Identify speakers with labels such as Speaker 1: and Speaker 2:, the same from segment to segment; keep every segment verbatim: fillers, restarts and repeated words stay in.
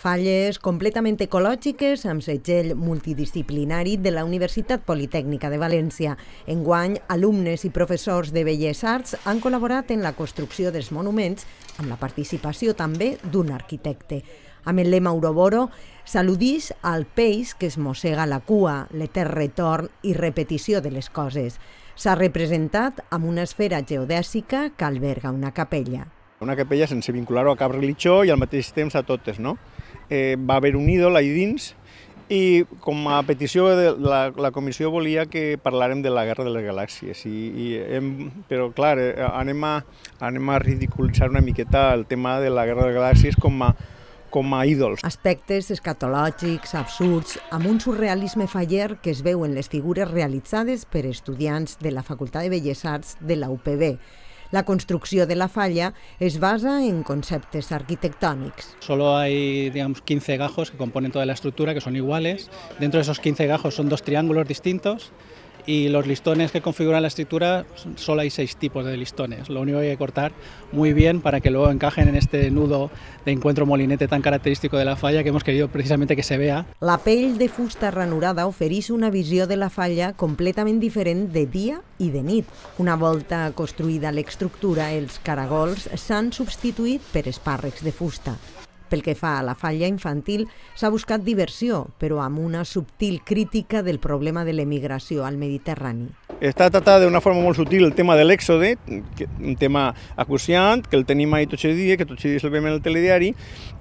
Speaker 1: Falles completament ecològiques amb segell multidisciplinari de la Universitat Politècnica de València. Enguany, alumnes i professors de Belles Arts han col·laborat en la construcció dels monuments amb la participació també d'un arquitecte. Amb el lema Ouroboro, s'al·ludix al peix que es mossega la cua, l'etern retorn i repetició de les coses. S'ha representat amb una esfera geodèsica que alberga una capella.
Speaker 2: Una capella sense vincular-ho a cap religió i al mateix temps a totes, no? Eh, va haver un ídol allà dins i com a petició de la, la comissió volia que parlàrem de la Guerra de les Galàxies. I, i hem, però clar, anem a, anem a ridiculitzar una miqueta el tema de la Guerra de les Galàxies com a, com a ídols.
Speaker 1: Aspectes escatològics, absurds, amb un surrealisme faller que es veu en les figures realitzades per estudiants de la Facultat de Belles Arts de la U P B. La construcció de la falla es basa en conceptes arquitectònics.
Speaker 3: Solo hay, digamos, quince gajos que componen toda la estructura, que son iguales. Dentro de esos quince gajos son dos triángulos distintos y los listones que configuran la estructura, solo hay seis tipos de listones. Lo único que hay que cortar muy bien para que luego encajen en este nudo de encuentro molinete tan característico de la falla que hemos querido precisamente que se vea.
Speaker 1: La pell de fusta ranurada ofereix una visió de la falla completament diferent de dia i de nit. Una volta construïda l'estructura, els caragols s'han substituït per espàrrecs de fusta. Pel que fa a la falla infantil, s'ha buscat diversió, però amb una subtil crítica del problema de l'emigració al Mediterrani.
Speaker 2: Està tratat d'una forma molt sutil el tema de l'èxode, un tema acuciant, que el tenim ahí tots els dies, que tots els dies el veiem en el telediari,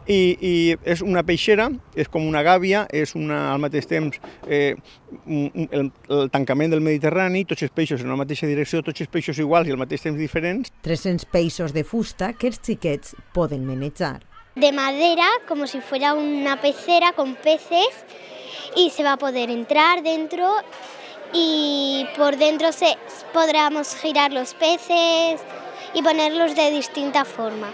Speaker 2: i, i és una peixera, és com una gàbia, és una, al mateix temps eh, el, el tancament del Mediterrani, tots els peixos en la mateixa direcció, tots els peixos iguals i al mateix temps diferents.
Speaker 1: tres-cents peixos de fusta que els xiquets poden manejar.
Speaker 4: De madera, como si fuera una pecera con peces, y se va a poder entrar dentro y por dentro se, podremos girar los peces y ponerlos de distinta forma.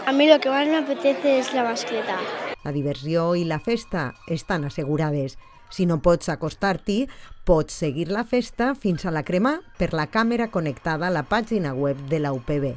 Speaker 5: A mí lo que más me apetece es la mascleta.
Speaker 1: La diversió i la festa estan assegurades. Si no pots acostar-t'hi, pots seguir la festa fins a la cremar per la càmera connectada a la pàgina web de la U P B.